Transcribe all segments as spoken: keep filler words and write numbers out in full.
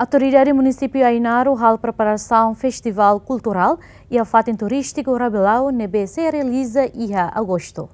Autoridade Munisípiu Ainaro halo preparasaun Festivál Kulturál iha fatin turístiku Rabilau ne'ebé sei realiza iha Agostu.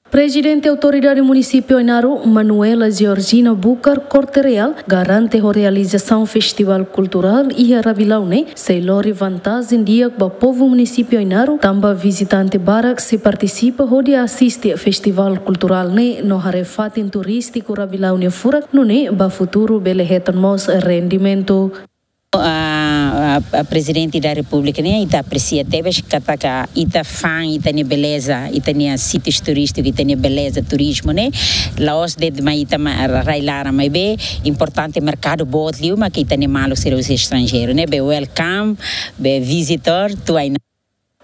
Prezidente Autoridade Munisípiu Ainaro, Manuela Georgina Bucar Corte-Real, garante ho realizasaun Festivál Kulturál iha Rabilau ne'e sei lori vantajen di'ak ba povu munisípiu Ainaro, tanba vizitante barak sei partisipa hodi asiste festivál kulturál ne'e no haree fatin turístiku Rabilau nia furak, nune'e ba futuru bele hetan mós rendimentu. A, a, a Prezidente da Repúblika ne'e, ita apresia tebes katak ita fa'an ita-nia beleza, ita-nia sítius turístiku, ita-nia beleza turizmu ne'e. La'ós de'it mak ita mak rai-laran, maibé importante merkadu boot liu mak ita-nia maluk sira husi estranjeiru ne'e. Be welcome, be visitor to Ainaro.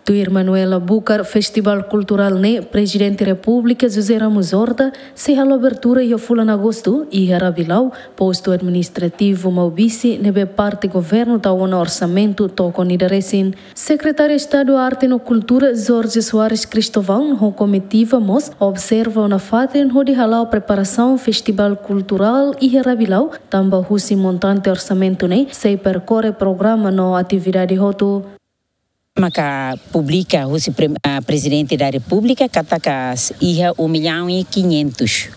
Tuir Manuela Bucar, Festivál Kulturál ne'e Prezidente Repúblika José Ramos Horta sei halo abertura iha fulan Agostu iha Rabilau, postu administrativu Maubisse, ne'ebé parte governu tau ona orsamentu to'o ida-resin. Sekretáriu Estadu Arte no Kultura, Jorge Soares Cristóvão, ho komitiva mós observa ona fatin hodi hala'o preparasaun Festivál Kulturál iha Rabilau, tanba husi montante orsamentu ne'e sei perkore programa no atividade hotu. Maka publika husi pre-, ah, Prezidente da Repúblika katak iha um milhão e quinhentos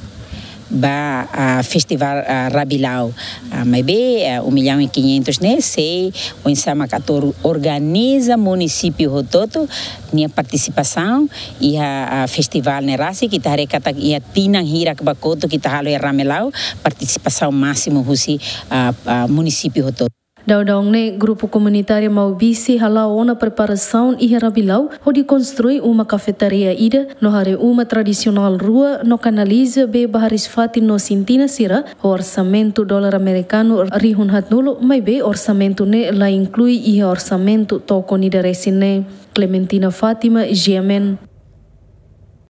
ba, ah, Festivál, ah, Rabilau. Ah, maibé, ah, um milhão e quinhentos ne'e sei oinsá maka atu organiza munisípiu hotu-hotu nia partisipasaun iha, ah, festivál ne'e rasik, ita haree katak iha tinan hirak ba kotuk ita halo iha Ramelau, partisipasaun másimu husi, ah, ah, munisípiu hotu-hotu. Daudaun ne'e, grupu komunitáriu Maubisse hala'o ona preparasaun iha Rabilau hodi konstrui uma kafetaria ida no haree uma tradisionál rua no kanaliza bee ba hariis-fatin no sintina sira ho orsamentu dolar amerikanu rihun haatnulu, maibé orsamentu ne'e la inklui iha orsamentu to'o ida-resin ne'e. Clementina Fátima, G M N.